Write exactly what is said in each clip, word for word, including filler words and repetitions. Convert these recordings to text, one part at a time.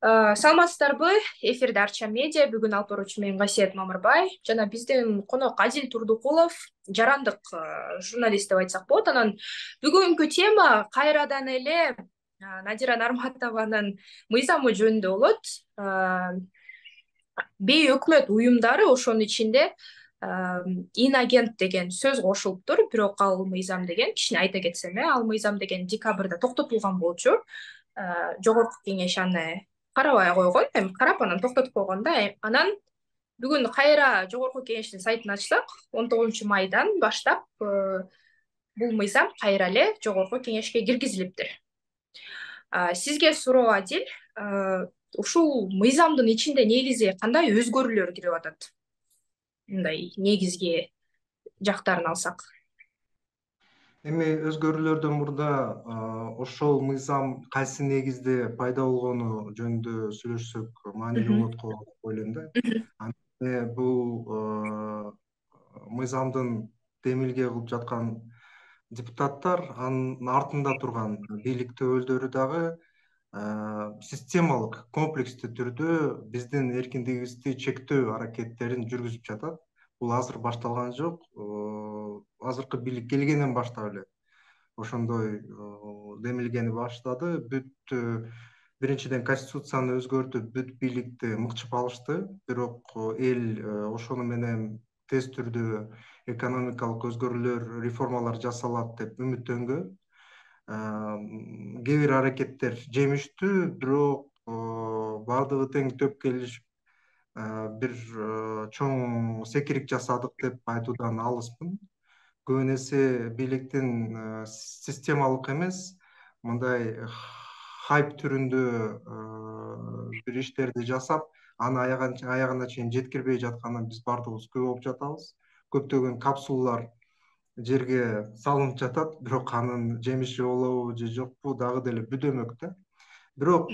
Э, Саламатсыздарбы? Эфирде Арча медиа. Бүгүн алып баруучу мен Гасиет Мамырбай жана биздин конок Адил Турдукулов, жарандык э, журналист деп айтсак болот. Анан бүгүнкү тема кайрадан эле э, Надира Нарматованын мыйзамы жөнүндө болот. Э, Бейөкмөт уюмдары, ошонун ичинде инагент деген сөз кошулуптур. Бирок ал мыйзам деген, кичине айта кетсем, э ал мыйзам деген декабрда токтотулган болчу. Э, Жогорку кеңеш аны карабай койгон, эми карап анан токтотуп койгон да. Э, Анан бүгүн кайра Жогорку кеңештин сайтын ачсак, он тогузунчу майдан баштап э, бул мыйзам кайра эле Жогорку кеңешке киргизилиптир. А, Сизге суроо, Адил, э, ушул мыйзамдын ичинде негизи кандай өзгөрүүлөр кирип атат? Мындай негизги жактарын алсак. Эми өзгөрүүлөрдөн мурда ошол мыйзам кайсы негизде пайда болгону жөнүндө сүйлөшсөк маанилүү болот го деп ойлойм да. Антип бул мыйзамдын демилге кылып жаткан депутаттар, анын артында турган бийлик өкүлдөрү дагы системалык, комплекстүү түрдө биздин эркиндигибизди чектөө аракеттерин жүргүзүп жатат. Бул азыр башталган жок. Азыркы бийлик келгенден баштап эле ошондой демилгени баштады. Бүт биринчиден конституцияны өзгөртүп, бүт бийликти мыкчып алышты. Бирок эл ошону менен тез түрдө экономикалык өзгөрүүлөр, реформалар жасалат деп үмүттөнгөн. Кээ бир аракеттер жемиштүү, бирок баардыгы тең төп келишип бир чоң секирик жасадык деп айтуудан алыспын. Көп эсе бийликтин системалык эмес, мындай хайп түрүндө бир иштерди жасап, аны аягына чейин жеткирбей жатканын биз баардыгыбыз күбө болуп жатабыз. Көптөгөн капсулалар жерге салынып жатат, бирок анын жемиши болобу же жокпу дагы деле бүдөмөк да. Бирок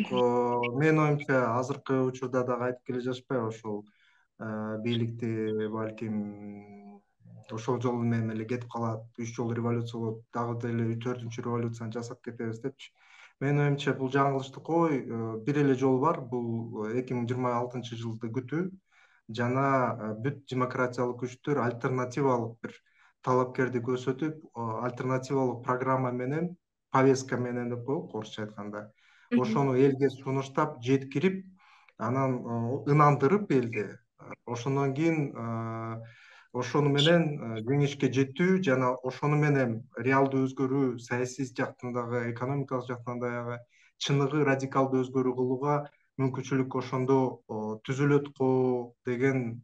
менин оюмча азыркы учурда дагы айтып келе жатышпайбы, ошол бийликти балким ошол жол менен эле кетип калат, үч жолу революция болот, дагы деле төртүнчү революцияны жасап кетебиз депчи. Менин оюмча бул жаңылыштык ой. Бир эле жол бар, бул эки миң жыйырма алтынчы жылды күтүү жана бүт демократиялык күчтөр альтернативалык бир талапкерди көрсөтүп, альтернативалык программа менен, повестка менен деп коелук орусча айтканда, ошону элге сунуштап, жеткирип, анан ынандырып элди. Ошондон кийин ошону менен жеңишке жетүү жана ошону менен реалдуу өзгөрүү, саясий жактан дагы, экономикалык жактан дагы чыныгы радикалдуу өзгөрүү кылууга мүмкүнчүлүк ошондо түзүлөт го деген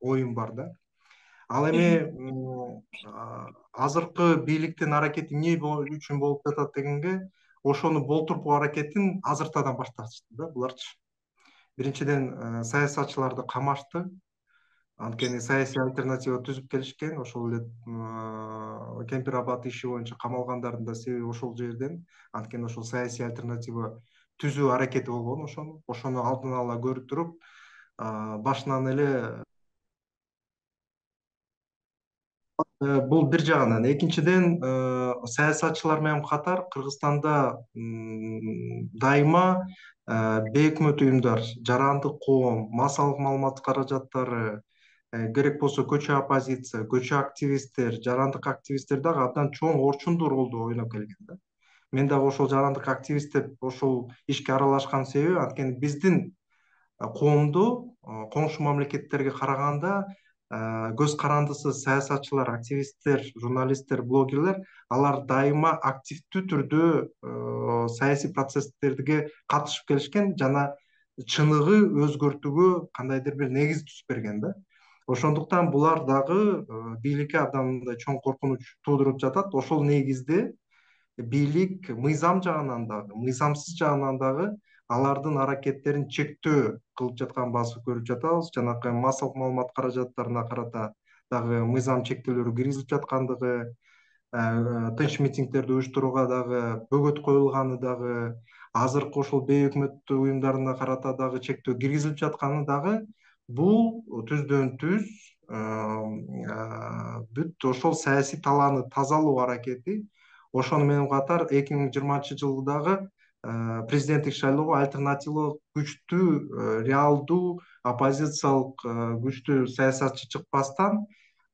оюм бар да. Ал эми азыркы бийликтин аракети эмне үчүн болуп жатат дегенге, ошону болтуртуу аракетин азыртадан башташты да буларчы. Биринчиден саясатчыларды камашты. Анткени саясий альтернатива түзүп келишкен. Ошол эле Кемпир Абад иши боюнча камалгандардын да себеби ошол жерден. Анткени ошол саясий альтернатива түзүү аракети болгон ошону. Ошону алдын ала көрүп туруп, башынан эле бул бир жагынан. Экинчиден, саясатчылар менен катар Кыргызстанда дайыма бейөкмөт уюмдар, жарандык коом, массалык маалымат каражаттары, керек болсо көчө оппозиция, көчө активисттер, жарандык активисттер дагы абдан чоң орчундуу ролду ойноп келген да. Мен дагы ошол жарандык активист деп ошол ишке аралашкан себеби, анткени биздин коомдо коңшу мамлекеттерге караганда көз карандысыз саясатчылар, активисттер, журналисттер, блогерлер, алар дайыма активдүү түрдө саясий процесстерге катышып келишкен жана чыныгы өзгөртүүгө кандайдыр бир негиз түзүп берген да. Ошондуктан булар дагы бийликке абдан мындай чоң коркунуч туудуруп жатат. Ошол негизде бийлик мыйзам жагынан дагы, мыйзамсыз жагынан дагы алардын аракеттерин чектөө кылып жатканын басып көрүп жатабыз. Жанакы массалык маалымат каражаттарына карата дагы мыйзам чектөөлөрү киргизилип жаткандыгы, тынч митингдерди уюштурууга дагы бөгөт коюлганы дагы, азыркы ошол бейөкмөт уюмдарына карата дагы чектөө киргизилип жатканы дагы бул түздөн түз бүт ошол саясий талааны тазалоо аракети. Ошону менен катар эки миң жыйырманчы жылдагы президенттик шайлоого альтернативалык күчтүү, реалдуу оппозициялык күчтүү саясатчы чыкпастан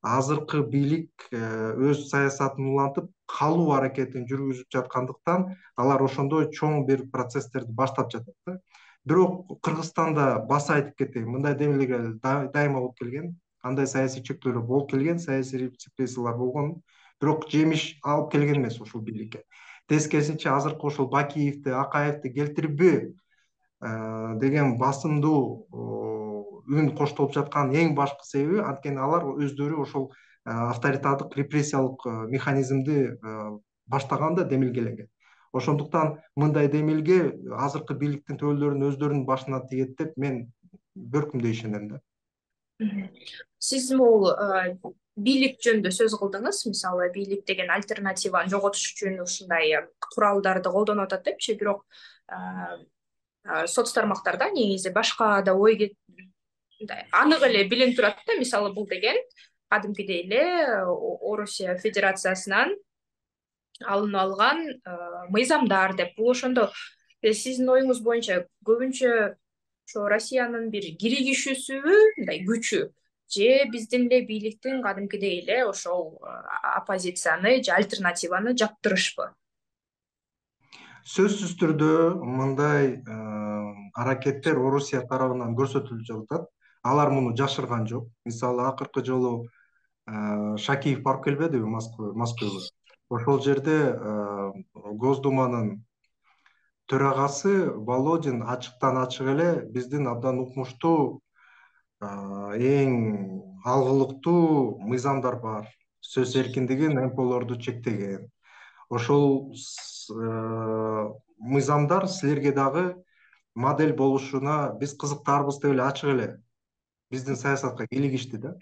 азыркы бийлик өз саясатын улантып калуу аракетин жүргүзүп жаткандыктан алар ошондой чоң бир процесстерди баштап жатат да. Бирок Кыргызстанда баса айтып кетейин, мындай демилге дайыма болуп келген, андай саясий чектөөлөр болуп келген, саясий репрессиялар болгон, бирок жемиш алып келген эмес ушул бийликке. Тескерисинче азыркы ошол Бакиевди, Акаевди келтирбөө деген басымдуу үн коштолуп жаткан эң башкы себеби анткени алар өздөрү ошол авторитардык репрессиялык механизмди баштаган да демилгеленген. Ошондуктан мындай демилге азыркы бийликтин төбөлдөрүнүн өздөрүнүн башына тиет деп мен бөркүмдөй ишенем да. Сиз могул бийлик жөнүндө сөз кылдыңыз. Мисалы, бийлик деген альтернативаны жоготуш үчүн ушундай куралдарды колдонуп атат депчи, бирок соц тармактарда негизи башка да ой анык эле билинип турат да. Мисалы, бул деген кадимкидей эле Орусия Федерациясынан алынып алган мыйзамдар деп. Бул ошондо сиздин оюңуз боюнча көбүнчө ошо Россиянын бир киригишүүсүбү, мындай күчү, же биздин эле бийликтин кадимкидей эле ошол оппозицияны же альтернативаны жаптырышпы? Сөзсүз түрдө мындай аракеттер Орусия тарабынан көрсөтүлүп жатат. Алар муну жашырган жок. Мисалы, акыркы жолу Шакиев барып келбедиби Москвага? Ошол жерде Госдуманын төрагасы Володин ачыктан ачык эле биздин абдан укмуштуу эң алгылыктуу мыйзамдар бар, сөз эркиндигин, эм пэ олорду чектеген. Ошол мыйзамдар силерге дагы модель болушуна биз кызыктарбыз деп эле ачык эле биздин саясатка кийлигишти да.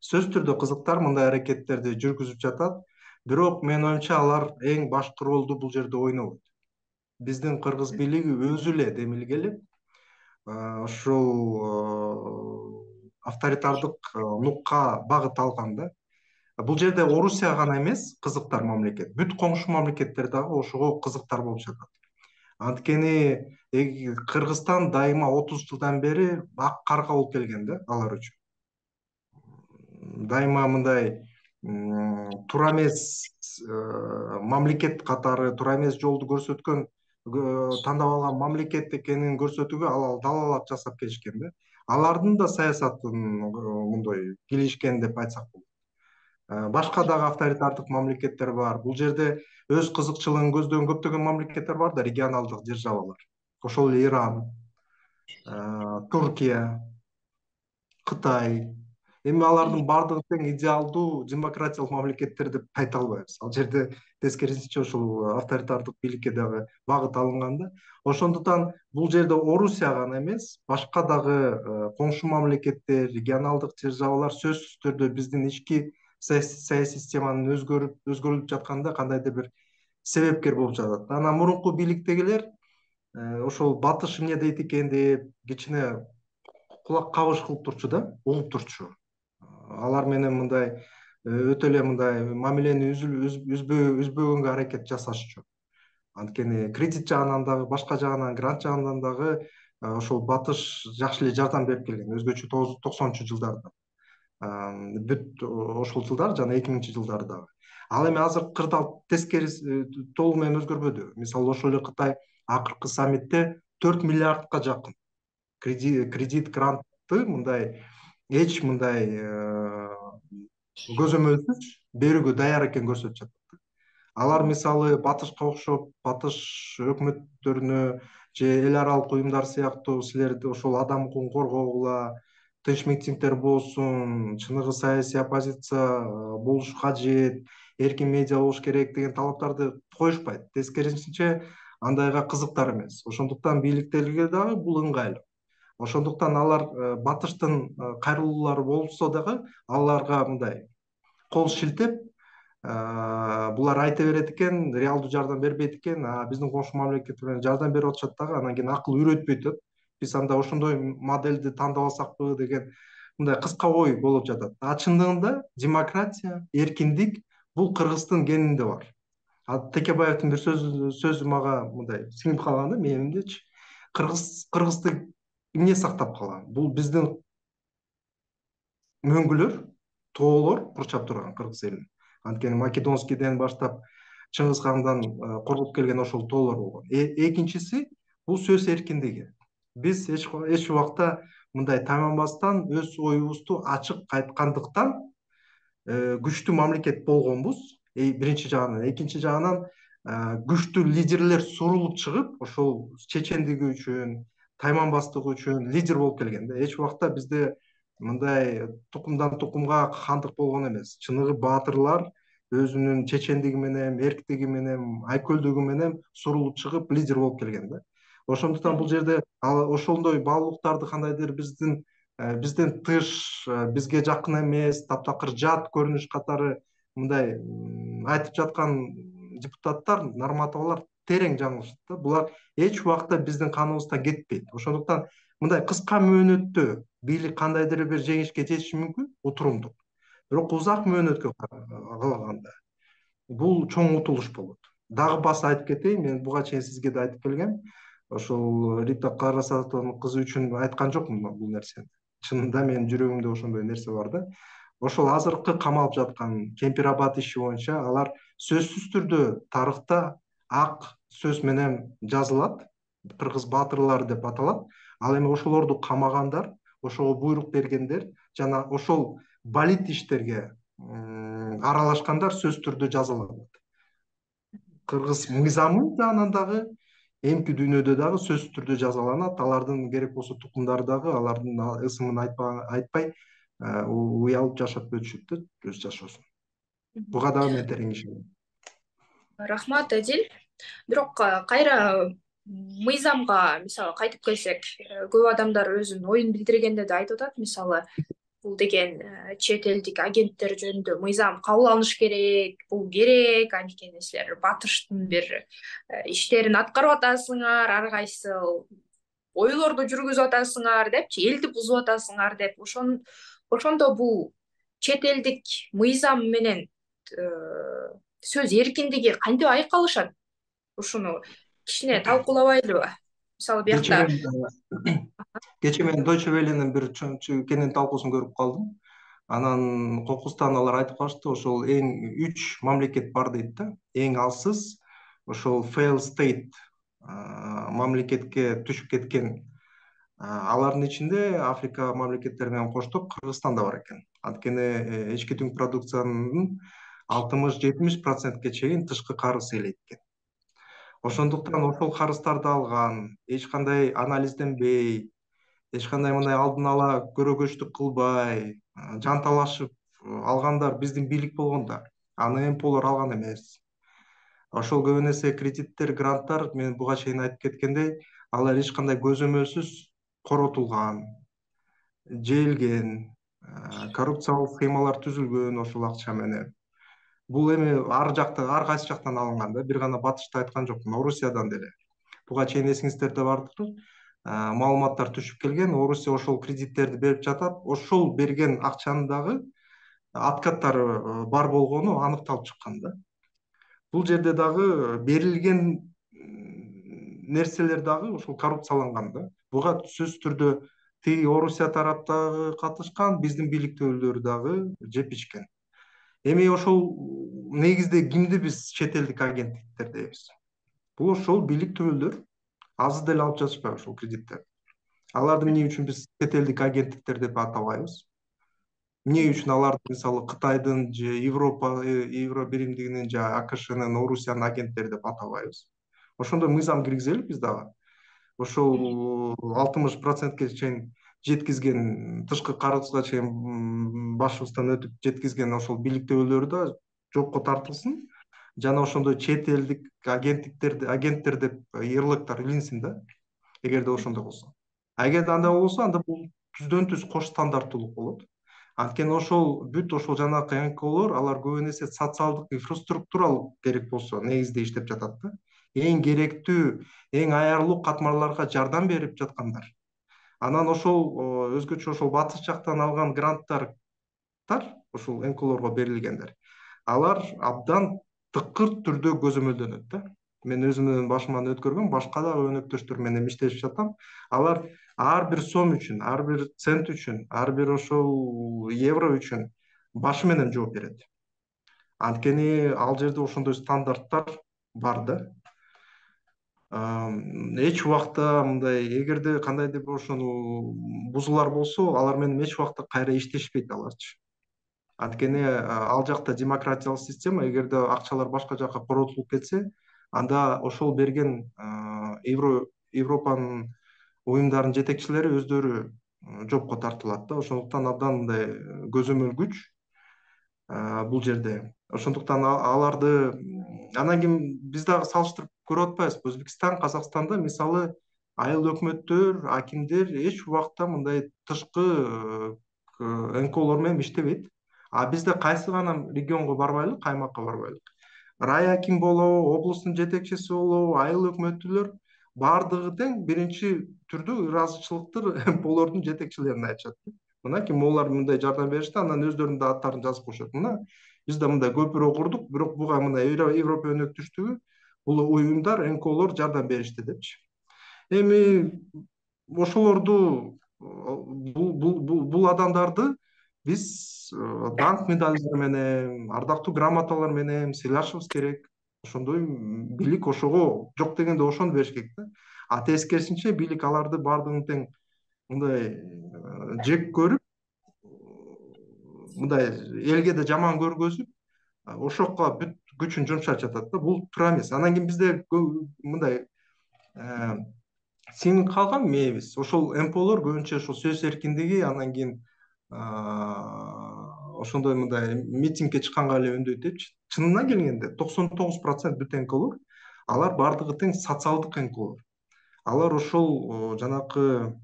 Сөз түрдө кызыктар мындай аракеттерди жүргүзүп жатат, бирок менин оюмча алар эң башкы ролду бул жерде ойнобойт. Биздин кыргыз бийлиги өзү эле демилгелеп, ушул авторитардык нукка багыт алган да. Бул жерде Орусия гана эмес кызыктар мамлекет, бүт коңшу мамлекеттер дагы ошого кызыктар болуп жатат. Анткени Кыргызстан дайыма отуз жылдан бери ак карга болуп келген да алар үчүн. Дайыма мындай туура эмес мамлекет катары, туура эмес жолду көрсөткөн, тандап алган мамлекет экенин көрсөтүүгө ал далаалат жасап келишкен да. Алардын да саясатын мындай килишкен деп айтсак болот. Башка дагы авторитардык мамлекеттер бар. Бул жерде өз кызыкчылыгын көздөгөн көптөгөн мамлекеттер бар да, регионалдык державалар. Ошол эле Иран, Туркия, Кытай. Эми алардын баардыгы тең идеалдуу демократиялык мамлекеттер деп айта албайбыз. Ал жерде тескерисинче ошол авторитардык бийликке дагы багыт алынган да. Ошондуктан бул жерде Орусия гана эмес, башка дагы коңшу мамлекеттер, регионалдык державалар сөзсүз түрдө биздин ички саясий системанын өзгөрүп өзгөрүлүп жатканда кандайдыр бир себепкер болуп жатат. Анан мурунку бийликтегилер ошол батыш эмне дейт экен деп кичине кулак кабыш кылып турчу да, угуп турчу. Алар менен мындай өтө эле мындай мамилени үзбөгөнгө аракет жасашчу. Анткени кредит жагынан дагы, башка жагынан, грант жагынан дагы ошол батыш жакшы эле жардам берип келген, өзгөчө токсонунчу жылдарда. Бүт ошол жылдар жана эки миңинчи жылдары дагы. Ал эми азыр кырдаал тескериси толугу менен өзгөрбөдү. Мисалы, ошол эле Кытай акыркы саммитте төрт миллиардка жакын кредит грантты мындай эч мындай көзөмөлсүз берүүгө даяр экенин көрсөтүп жатат. Алар мисалы батышка окшоп, батыш өкмөттөрүнө же эл аралык уюмдар сыяктуу силерди ошол адам укугун коргогула, тынч митингдер болсун, чыныгы саясий оппозиция болуш кажет, эркин медиа болуш керек деген талаптарды коюшпайт. Тескерисинче андайга кызыктар эмес. Ошондуктан бийликтерге дагы бул ыңгайлуу. Ошондуктан алар батыштын кайрылуулары болсо дагы аларга мындай кол шилтеп, булар айта берет экен, реалдуу жардам бербейт экен, биздин коңшу мамлекеттер менен жардам берип атышат дагы, анан кийин акыл үйрөтпөй атат. Биз анда ошондой модельди тандап алсакпы деген мындай кыска ой болуп жатат. А чындыгында демократия, эркиндик бул Кыргыздын генинде бар. Текебаевдин бир сөзү сөзү мага мындай сиңип калган да мээнимдечи. Кыргыз Кыргызды эмне сактап калган? Бул биздин мөңгүлөр, тоолор курчап турган кыргыз элин. Анткени Македонскийден баштап Чыңгыз хандан коргоп келген ошол тоолор болгон. Экинчиси бул сөз эркиндиги. Биз эч эч убакта мындай тайманбастан өз оюбузду ачык айткандыктан күчтүү мамлекет болгонбуз. Биринчи жагынан, экинчи жагынан күчтүү лидерлер сурулуп чыгып, ошол чечендиги үчүн, тайманбастыгы үчүн лидер болуп келген да. Эч убакта бизде мындай тукумдан тукумга хандык болгон эмес. Чыныгы баатырлар өзүнүн чечендиги менен, эрктиги менен, айкөлдүгү менен сурулуп чыгып лидер болуп келген да. Ошондуктан бул жерде ошондой баалуулуктарды кандайдыр биздин бизден тыш, бизге жакын эмес, таптакыр жат көрүнүш катары мындай айтып жаткан депутаттар, норматовалар терең жаңылышат да. Булар эч убакта биздин каныбыздан кетпейт. Ошондуктан мындай кыска мөөнөттө бийлик кандайдыр бир жеңишке жетиши мүмкүн, утурумдуу. Бирок узак мөөнөткө калганда бул чоң утулуш болот. Дагы баса айтып кетейин, мен буга чейин сизге да айтып келгем. Ошол Рита Карасатовдун кызы үчүн айткан жокмун бул нерсени. Чынында менин жүрөгүмдө ошондой нерсе бар да. Ошол азыркы камалып жаткан Кемпир-Абад иши боюнча алар сөзсүз түрдө тарыхта ак сөз менен жазылат. Кыргыз баатырлары деп аталат. Ал эми ошолорду камагандар, ошого буйрук бергендер жана ошол балит иштерге аралашкандар сөзсүз түрдө жазылат. Кыргыз мыйзамы жагынан дагы, эмки дүйнөдө дагы сөзсүз түрдө жазаланат. Алардын керек болсо тукумдары дагы алардын ысымын айтпай уялып жашап өтүшөт да өз жашоосун. Буга дагы мен терең ишенем. Рахмат, Адил. Бирок кайра мыйзамга мисалы кайтып келсек, көп адамдар өзүнүн оюн билдиргенде да айтып атат, мисалы бул деген чет элдик агенттер жөнүндө мыйзам кабыл алыныш керек, бул керек, анткени силер батыштын бир иштерин аткарып атасыңар, ар кайсы ойлорду жүргүзүп атасыңар депчи, элди бузуп атасыңар деп. Ошон ошондо бул чет элдик мыйзам менен сөз эркиндиги кантип айкалышат? Ушуну кичине талкуулабайлыбы? Мисалы биякта кечээ мен Deutsche Welle'нин бир кенен талкуусун көрүп калдым. Анан кокустан алар айтып калышты, ошол эң үч мамлекет бар дейт да. Эң алсыз ошол fail state мамлекетке түшүп кеткен. Алардын ичинде Африка мамлекеттери менен коштоп Кыргызстан да бар экен. Анткени ички түнк продукциянын алтымыш жетимиш процентке чейин тышкы карыз ээлейт экен. Ошондуктан ошол карыздарды алган, эч кандай анализденбей, эч кандай мындай алдын ала көрөгөчтүк кылбай, жанталашып алгандар биздин бийлик болгондар. Аны эмполор алган эмес. Ошол көп эсе кредиттер, гранттар, мен буга чейин айтып кеткендей, алар эч кандай көзөмөлсүз коротулган, жээлген, коррупциялык схемалар түзүлгөн ошол акча менен. Бул эми ар жакта, ар кайсы жактан алынган да, бир гана батышты айткан жокмун, Орусиядан деле. Буга чейин эсиңиздерде бардыр, маалыматтар түшүп келген, Орусия ошол кредиттерди берип жатат, ошол берген акчанын дагы откаттары бар болгону аныкталып чыккан да. Бул жерде дагы берилген нерселер дагы ошол коррупцияланган да. Буга сөзсүз түрдө тиги Орусия тараптагы катышкан, биздин бийликтүүлөр дагы жеп ичкен. Эми ошол негизде кимди биз чет элдик агенттиктер дейбиз? Бул ошол бийликтүүлөр азыр деле алып жатышпайбы ошол кредиттерди? Аларды эмне үчүн биз чет элдик агенттиктер деп атабайбыз? Эмне үчүн аларды мисалы Кытайдын же Европа Евро биримдигинин же АКШнын, Орусиянын агенттери деп атабайбыз? Ошондой мыйзам киргизели биз дагы. Ошол алтымыш процентке чейин жеткизген, тышкы карызга чейин башыбыздан өтүп жеткизген ошол бийликтүүлөр да жокко тартылсын. Жана ошондой чет элдик агенттиктерди, агенттер деп ярлыктар илинсин да, эгерде ошондой болсо. А эгерде андай болсо, анда бул түздөн түз кош стандарттуулук болот. Анткени ошол бүт ошол жанакы эн ка олор алар көп эсе социалдык, инфраструктуралык керек болсо негизде иштеп жатат да. Эң керектүү, эң аярлуу катмарларга жардам берип жаткандар. Анан ошол өзгөчө ошол батыш жактан алган гранттар ошол эн ка олорго берилгендер. Алар абдан тыкыр түрдө көзөмөлдөнөт да. Мен өзүмдүн башыман өткөргөм, башка дагы өнөктөштөр менен иштешип жатам. Алар ар бир сом үчүн, ар бир цент үчүн, ар бир ошол евро үчүн башы менен жооп берет. Анткени ал жерде ошондой стандарттар бар да. Эч убакта мындай, эгерде кандайдыр бир ошону бузуулар болсо, алар менен эч убакта кайра иштешпейт аларчы. Анткени ал жакта демократиялык система, эгерде акчалар башка жака коротулуп кетсе, анда ошол берген Европанын уюмдарынын жетекчилери өздөрү жопко тартылат да. Ошондуктан абдан мындай көзөмөлгүч бул жерде. Ошондуктан аларды анан кийин биз дагы салыштырып көрүп атпайбызбы? Өзбекстан, Казакстанда мисалы айыл өкмөттөр, акимдер эч убакта мындай тышкы эн ка олор менен иштебейт. А бизде кайсы гана регионго барбайлык, аймакка барбайлык. Рай аким болобу, облустун жетекчиси болобу, айыл өкмөттүүлөр баардыгы тең биринчи түрдө ыраазычылыктыр эн ка олордун жетекчилерине айтышат. Мынакей могулар мындай жардам беришти, анан өздөрүнүн да аттарын жазып коюшат. Мына бизде мындай көпүрө курдук, бирок буга мына Европа өнөктүштүгү, бул уюмдар, эн ка олор жардам беришти депчи. Эми ошолорду, бул адамдарды биз даңк медалдары менен, ардактуу грамоталар менен сыйлашыбыз керек. Ошондой бийлик ошого жок дегенде ошону бериш керек да. А тескерисинче бийлик аларды баардыгын тең мындай жек көрүп, мындай элге да жаман көргөзүп, ошокко бүт күчүн жумшап жатат да. Бул туура эмес. Анан кийин бизде мындай сиңип калган мээбиз. Ошол эн ка олор көбүнчө ошол сөз эркиндиги, анан кийин ошондой мындай митингге чыкканга эле үндөйт депчи. Чынына келгенде токсон тогуз процент бүт эн ка олор, алар баардыгы тең социалдык эн ка олор. Алар ошол жанакы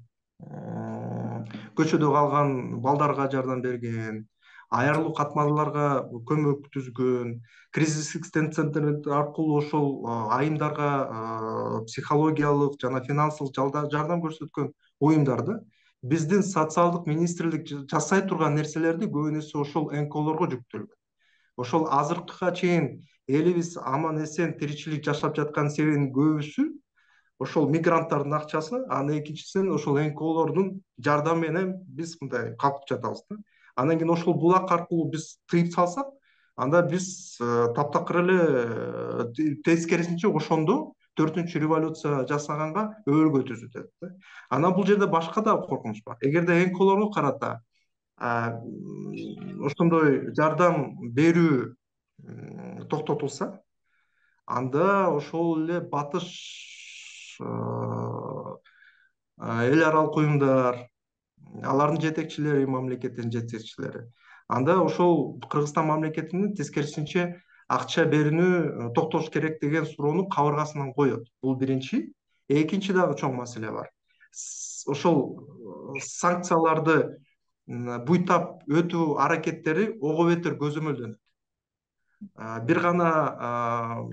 көчөдө калган балдарга жардам берген, аярлуу катмарларга көмөктүзгөн, кризистик центр аркылуу ошол айымдарга психологиялык жана финансылык жардам көрсөткөн уюмдар да. Биздин социалдык министрлик жасай турган нерселерди көбүнесе ошол эн ка олорго жүктөлгөн. Ошол азыркыга чейин элибиз аман эсен тиричилик жашап жаткан себебинин көбүсү ошол мигранттардын акчасы, анан экинчисинен ошол эн ка олордун жардамы менен биз мындай калкып жатабыз да. Анан кийин ошол булак аркылуу биз тыйып салсак, анда биз таптакыр эле тескерисинче ошондо төртүнчү революция жасаганга өбөлгө түзүп атат да. Анан бул жерде башка дагы коркунуч бар. Эгерде эн ка олорго карата ошондой жардам берүү токтотулса, анда ошол эле батыш эл аралык уюмдар, алардын жетекчилери, мамлекеттин жетекчилери, анда ошол Кыргызстан мамлекетинин тескерисинче акча берүүнү токтош керек деген суроону кабыргасынан коет. Бул биринчи. Экинчи дагы чоң маселе бар. Ошол санкцияларды буйтап өтүү аракеттери ого бетер көзөмөлдөнөт. Бир гана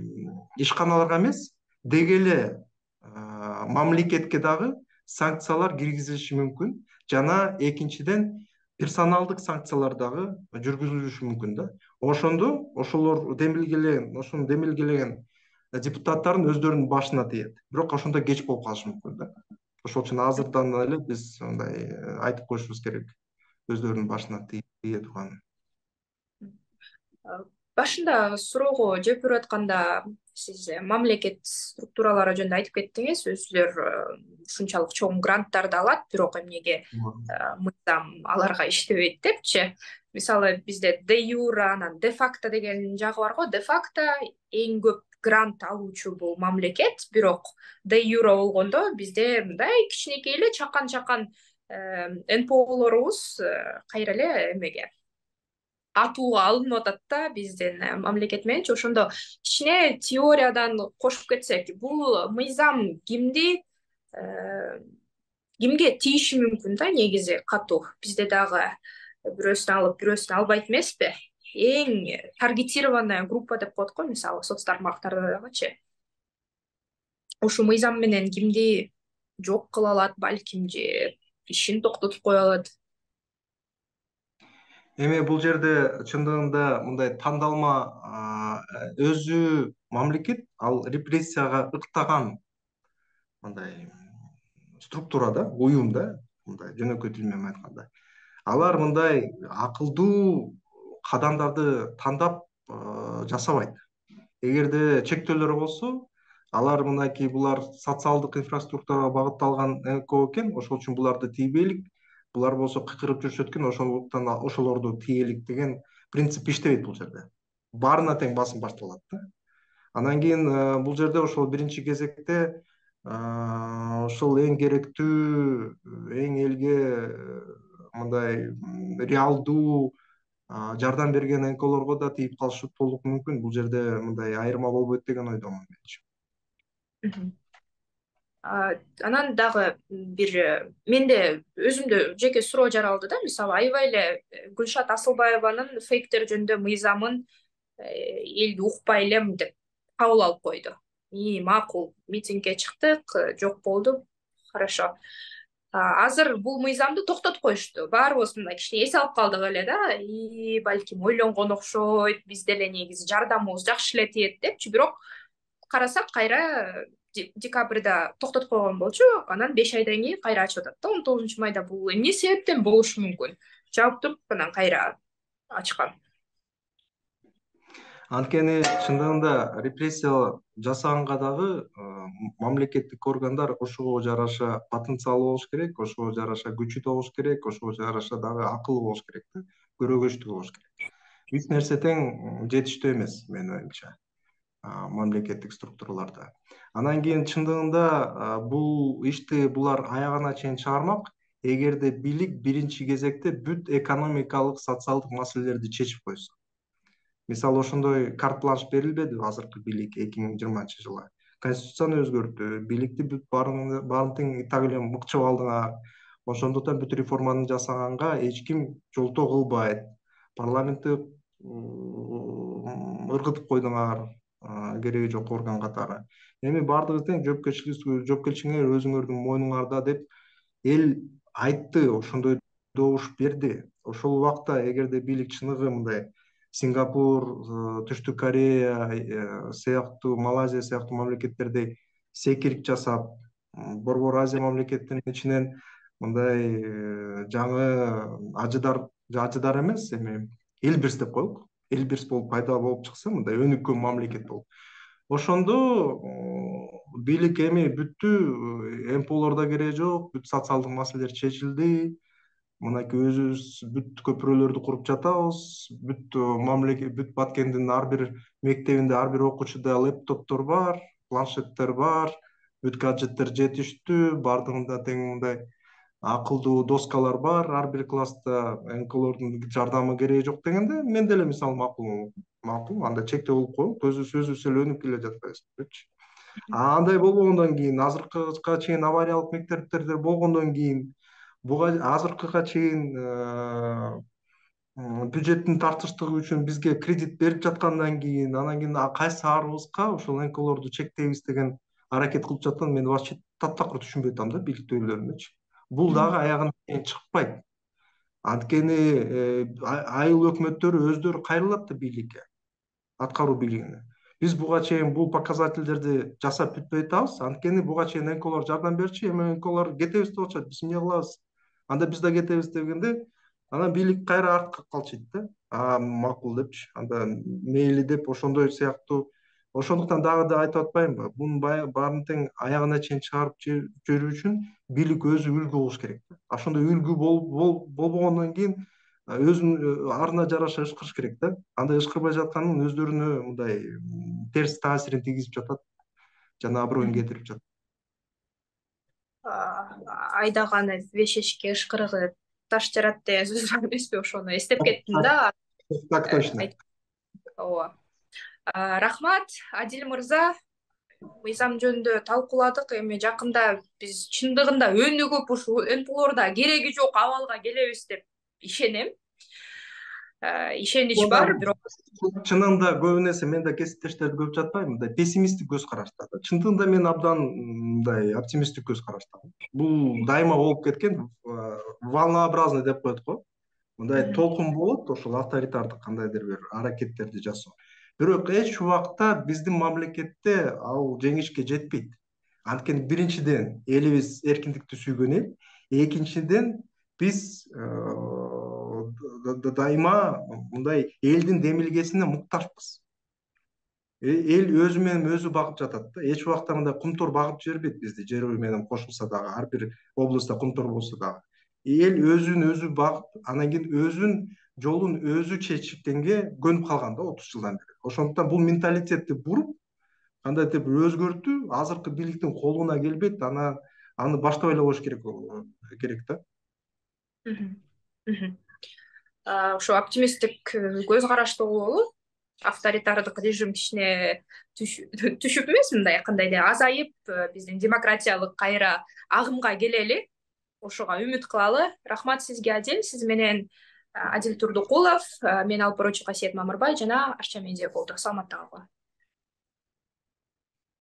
ишканаларга эмес, деги эле мамлекетке дагы санкциялар киргизилиши мүмкүн. Жана экинчиден персоналдык санкциялар дагы жүргүзүлүшү мүмкүн да. Ошондо ошолор демилгелеген, ошону демилгелеген депутаттардын өздөрүнүн башына тиет. Бирок ошондо кеч болуп калышы мүмкүн да. Ошол үчүн азырдан эле биз мындай айтып коюшубуз керек. Өздөрүнүн башына тие турган. Башында суроого жооп берип атканда сиз мамлекет структуралары жөнүндө айтып кеттиңиз. Өзүлөр ушунчалык чоң гранттарды алат, бирок эмнеге мыйзам аларга иштебейт депчи. Мисалы бизде де юра, анан де факто деген жагы бар го. Де факто эң көп грант алуучу бул мамлекет, бирок де юра болгондо бизде мындай кичинекей эле чакан-чакан эн пэ олорубуз кайра эле эмеге атууга алынып атат да биздин мамлекет мененчи. Ошондо кичине теориядан кошуп кетсек, бул мыйзам кимди кимге тийиши мүмкүн да негизи катуу? Бизде дагы бирөөсүн алып, бирөөсүн албайт эмеспи? Эң таргетированная группа деп коет го, мисалы соцтармактарда дагычы. Ушул мыйзам менен кимди жок кыла алат, балким же ишин токтотуп кое алат? Эми бул жерде чындыгында мындай тандалма өзү мамлекет ал репрессияга ыктаган мындай структура да, уюм да, мындай жөнөкөй тил менен айтканда. Алар мындай акылдуу кадамдарды тандап жасабайт. Эгерде чектөөлөр болсо, алар мынакей булар социалдык инфраструктурага багытталган эн ко экен, ошол үчүн буларды тийбейлик. Булар болсо кыйкырып жүрүшөт экен, ошондуктан ошолорду тийелик деген принцип иштебейт бул жерде. Баарына тең басым башталат да. Анан кийин бул жерде ошол биринчи кезекте ошол эң керектүү, эң элге мындай реалдуу жардам берген эн колорго да тийип калышы толук мүмкүн. Бул жерде мындай айырма болбойт деген ойдомун мен. Анан дагы бир менде өзүмдө жеке суроо жаралды да, мисалы аябай эле Гүлшат Асылбаеванын фейктер жөнүндө мыйзамын эл укпай элем деп кабыл алып койду. И макул, митингге чыктык, жок болду, хорошо. Азыр бул мыйзамды токтотуп коюшту. Баарыбыз мындай кичине эс алып калдык эле да, и балким ойлонгон окшойт, биз деле негизи жардамыбыз жакшы эле тиет депчи, бирок карасак кайра декабрда токтотуп койгон болчу, анан беш айдан кийин кайра ачып атат да, он тогузунчу майда. Бул эмне себептен болушу мүмкүн? Жаап туруп анан кайра ачкан. Анткени чындыгында репрессия жасаганга дагы мамлекеттик органдар ошого жараша потенциалы болуш керек, ошого жараша күчү да болуш керек, ошого жараша дагы акылы болуш керек да, көрөгөчтүгү болуш керек. Үч нерсе тең жетиштүү эмес менин оюмча мамлекеттик структураларда. Анан кийин чындыгында бул ишти булар аягына чейин чыгармак, эгерде бийлик биринчи кезекте бүт экономикалык, социалдык маселелерди чечип койсо. Мисалы ошондой карт-бланш берилбеди азыркы бийликке эки миң жыйырманчы жылы. Конституцияны өзгөрттү, бийликти бүт баарын тең так эле мыкчып алдыңар. Ошондуктан бүт реформаны жасаганга эч ким жолтоо кылбайт. Парламентти ыргытып койдуңар, кереги жок орган катары. Эми баардыгы тең жоопкерчиликтер өзүңөрдүн мойнуңарда деп эл айтты, ошондой добуш берди. Ошол убакта эгерде бийлик чыныгы мындай Сингапур, Түштүк Корея сыяктуу, Малайзия сыяктуу мамлекеттердей секирик жасап, Борбор Азия мамлекеттеринин ичинен мындай жаңы ажыдар, ажыдар эмес, эми Элбирс деп коелук. Элбирс болуп пайда болуп чыкса, мындай өнүккөн мамлекет болуп. Ошондо бийлик эми бүттү, эм пэ олордо кереги жок, бүт социалдык маселелер чечилди. Мынакей өзүбүз бүт көпүрөлөрдү куруп жатабыз, бүт мамлекет, бүт Баткендин ар бир мектебинде, ар бир окуучуда лэптоптор бар, планшеттер бар, бүт гаджеттер жетиштүү, баардыгында тең мындай акылдуу доскалар бар, ар бир класста эн колордун жардамы кереги жок дегенде, мен деле мисалы макул, макул, андай чектөө болуп коелук, өзүбүз өзүбүз эле өнүгүп келе жатпайбызбы депчи. Андай болгондон кийин, азыркыга чейин авариялык мектептерде болгондон кийин, буга азыркыга чейин бюджеттин тартыштыгы үчүн бизге кредит берип жаткандан кийин, анан кийин кайсы арыбызга ошол эн колорду чектейбиз деген аракет кылып жатканын мен вообще таптакыр түшүнбөй атам да, бийликтегилердичи. Бул дагы аягына чейин чыкпайт. Анткени айыл өкмөттөрү өздөрү кайрылат да бийликке, аткаруу бийлигине. Биз буга чейин бул показательдерди жасап бүтпөй атабыз. Анткени буга чейин эн колор жардам берчи, эми эн колор кетебиз деп атышат, биз эмне кылабыз? Анда биз да кетебиз дегенде, анан бийлик кайра артка калчыйт да. А, макул депчи. Анда мейли деп ошондой сыяктуу. Ошондуктан дагы да айтып атпаймынбы? Бунун баарын тең аягына чейин чыгарып жүрүү үчүн бийлик өзү үлгү болуш керек. Ошондой үлгү болбогондон кийин өзүнүн арына жараша ышкырыш керек да. Андай ышкырбай жатканын өздөрүнө мындай терс таасирин тийгизип жатат, жана аброюн кетирип жатат. Айдаганы беш эшикке ышкырыгы таш жарат деген сөз бар эмеспи? Ошону эстеп кеттим да. Так точно. Ооба. Рахмат, Адил мырза. Мыйзам жөнүндө талкууладык. Эми жакында биз чындыгында өнүгүп ушул эн пэ олордо кереги жок абалга келебиз деп ишенем. Ишенич бар, бирок чынында көбүнесе мен да кесиптештерди көп жатпайм, мындай пессимисттик көз карашта. Чындыгында мен абдан мындай оптимисттик көз карашта. Бул дайыма болуп кеткен, волнообразный деп коет го. мындай толкун болот, ошол авторитардык кандайдыр бир аракеттерди жасоо. Бирок эч убакта биздин мамлекетте ал жеңишке жетпейт. Анткени биринчиден элибиз эркиндикти сүйгөн эл, экинчиден биз дайыма мындай элдин демилгесине муктажбыз. Эл өзү менен өзү багып жатат да. Эч убакта мындай кумтор багып жибербейт бизди, жер үй менен кошулса дагы, ар бир областта кумтор болсо дагы. Эл өзүн өзү багып, анан кийин өзүн жолун өзү чечкенге көнүп калган да отуз жылдан бери. Ошондуктан бул менталитетти буруп, кандайдыр бир өзгөртүү азыркы бийликтин колуна келбейт, анан аны баштап ойлобош керек керек да. Ошо оптимисттик көз карашты болобу? Авторитардык режим кичине түшүп эмес, мындай кандайдыр азайып, биздин демократиялык кайра агымга келели. Ошого үмүт кылалы. Рахмат сизге, Адил. Сиз менен Адил Турдукулов, мен Алпорочу Касиет Мамырбай жана Арча медиа болду. Саламатта калгыла.